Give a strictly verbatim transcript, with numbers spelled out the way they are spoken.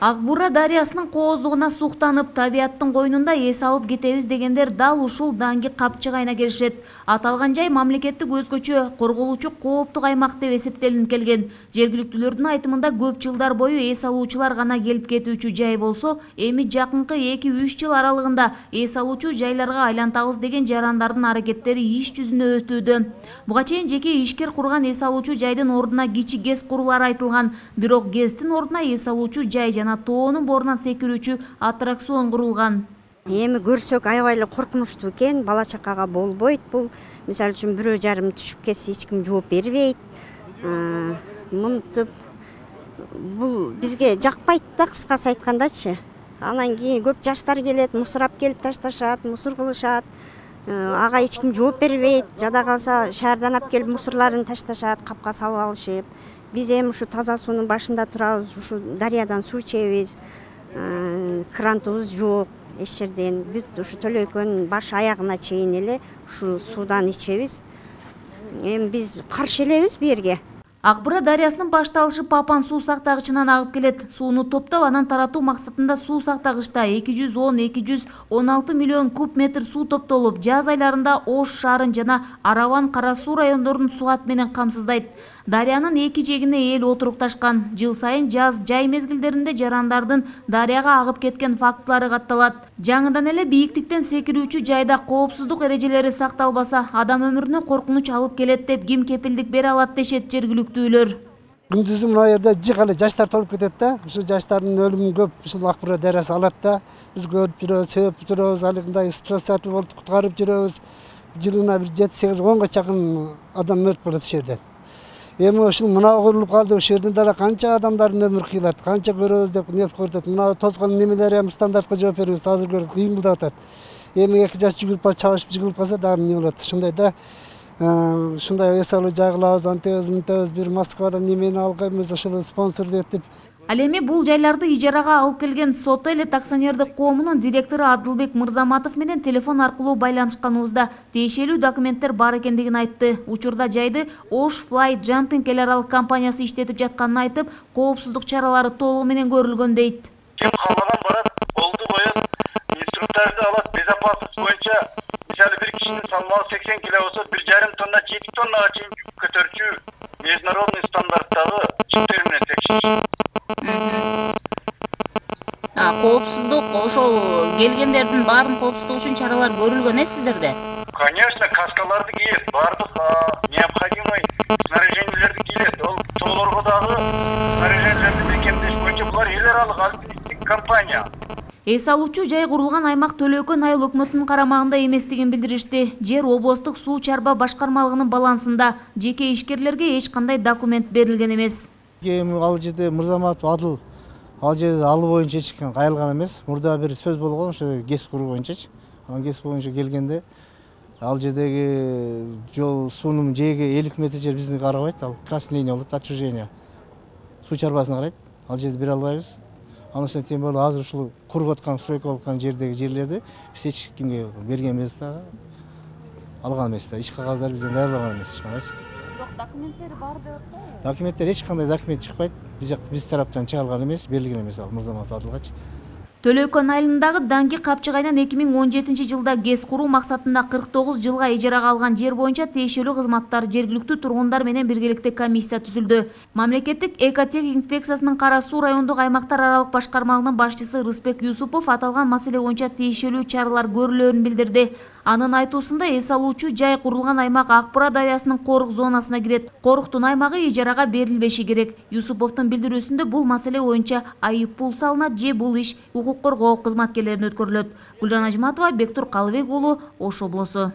Ак Бура дарыясынын кооздугуна суктанып, табияттын койнунда эс алып кетебиз дегендер дал ушул Даңги капчыгайына келишет. Аталган жай мамлекеттик өзгөчө корголуучу кооптук аймак деп эсептелинип келген. Жергиликтүүлөрдүн айтымында көп жылдар бою эс алуучулар гана келип кетүүчү жай болсо, эми жакынкы эки үч жыл аралыгында эс алуучу жайларга айлантабыз деген жарандардын аракеттери иш жүзүнө өтүүдө. Буга чейин жеке ишкер курган эс алуучу жайдын ордуна кичи ГЭС курулары айтылган, бирок ГЭСтин ордуна эс алуучу жай жана тоонун борунан секирүүчү аттракцион курулган. Эми көрсөк аябай эле коркунучтуу экен, бала чакага болбойт бул. Мисалы үчүн бирөө жарым түшүп кетсе эч ким жооп бербейт. Мынтип бул бизге жакпайт да, кыскасы айткандачы. Анан кийин көп жаштар келет, мусор алып келип ташташат, мусор кылышат. Ага эч ким жооп бербейт. Жада калса шаардан алып келип мусорларын ташташат, капка салып алышып. Биз эми ушу таза суунун башында турабыз, ушу дарыядан суу ичебиз. Крантыбыз жок эч жерден. Бүт ушу Төлөйкөнүн баш аягына чейин эле ушу суудан ичебиз. Эми биз каршы элебиз бу жерге. Ак Бура дарыясынын башталышы Папан суу сактагычынан агып келет. Сууну топтоп, анан таратуу максатында суу сактагычта эки жүз он — эки жүз он алты миллион куб метр суу топтолуп, жаз айларында Ош шаарын жана Араван, Кара Суу райондорун суат менен камсыздайт. Дарыянын эки жегине эл отурукташкан. Жыл сайын жаз жай мезгилдеринде жарандардын дарыяга агып кеткен фактылары катталат. Жаңыдан эле бийиктиктен секирүүчү жайда коопсуздук эрежелери сакталбаса, адам өмүрүнө коркунуч алып келет деп ким кепилдик бере алат дешет жергиликтүүлөр. Күндүзү мына жерде жык эле жаштар толуп кетет да. Ушул жаштардын өлүмүн көп ушул Ак Бура дарыясы алат да. Биз көрүп жүрөбүз, себеп жүрөбүз, алындай спасатель болуп куткарып жүрөбүз. Жылына бир жети сегиз онго чакын адам мөрт болот ушул жерде. Эми ушул мына курулуп калды, ушул жерден дагы канча адамдардын өмүрү кыйылат, канча көрөбүз деп неп көрүп. Мына тозгон немелер эми стандартка жооп беребиз, азыр көрүп кыймылдап атат. Эми эки жаш жүгүрүп барып чабышып жыгылып калса дагы эмне болот? Ушундай да ушундай эс алуу жай кылабыз, антебиз, мынтебиз, бир Москвадан немени алганбыз, ошол спонсор этип. Ал эми бул жайларды ижарага алып келген Сотелет акционердик коомунун директору Адылбек Мырзаматов менен телефон аркылуу байланышканыбызда тиешелүү документтер бар экендигин айтты. Учурда жайды Osh Fly Jumping эл аралык компаниясы иштетип жатканын айтып, коопсуздук чаралары толугу менен көрүлгөн дейт. Ким каалаган барат, колду коет, инструктарды алат, безопасность боюнча мисалы бир кишинин салмагы сексен кило болсо, бир жарым тонна, жети тоннага чейин көтөрчү международный стандарттагы жиптер менен текшериш. Коопсуздук ошол келгендердин баарын коопсуздук үчүн чаралар көрүлгөн э сиздерде? Конечно, каскаларды кийет, баардык необходимый снаряжениелерди кийет. Ол тоолорго дагы снаряжениелерди бекемдеш боюнча булар эл аралык альпинисттик компания. Эс алуучу жай курулган аймак Төлөйкөн айыл өкмөтүнүн карамагында эместигин билдиришти. Жер облустук суу чарба башкармалыгынын балансында, жеке ишкерлерге эч кандай документ берилген эмес. Эми ал жерде Мырзаматов Адыл ал жерде алуу боюнча эч ким кайрылган эмес. Мурда бир сөз болгон ошо ГЭС куруу боюнчачы. Анан ГЭС боюнча келгенде ал жердеги жол суунун жээги элүү метр жер бизди карабайт, ал красный линия болот, отчуждение. Суу чарбасына карайт. Ал жерди бере албайбыз. Анын үстүнө тем более азыр ушул куруп аткан, стройка болуп аткан жердеги жерлерди биз эч кимге берген эмес да, алган эмес да. Иш кагаздар бизден даярлаган эмес эч кандайчы. Бирок документтери бар деп атпайбы? Документтер эч кандай документ чыкпайт. Биз биз тараптан чыгарылган эмес, берилген эмес ал Мырзаматов Адылгачы. Төлөйкөн айылындагы Даңги капчыгайынан эки миң он жетинчи жылда ГЭС куруу максатында кырк тогуз жылга ижарага алган жер боюнча тиешелүү кызматтар жергиликтүү тургундар менен биргеликте комиссия түзүлдү. Мамлекеттик экотех инспекциясынын Кара Суу райондук аймактар аралык башкармалыгынын башчысы Рыспек Юсупов аталган маселе боюнча тиешелүү чаралар көрүлөөрүн билдирди. Анын айтуусунда эс алуучу жай курулган аймак Ак Бура дарыясынын корук зонасына кирет. Коруктун аймагы ижарага берилбеши керек. Юсуповдун билдирүүсүндө бул маселе боюнча айып пул салынат же бул иш укук коргоо кызматкерлерине өткөрүлөт. Гүлжан Ажматова, Бектур Калыбек уулу, Ош облусу.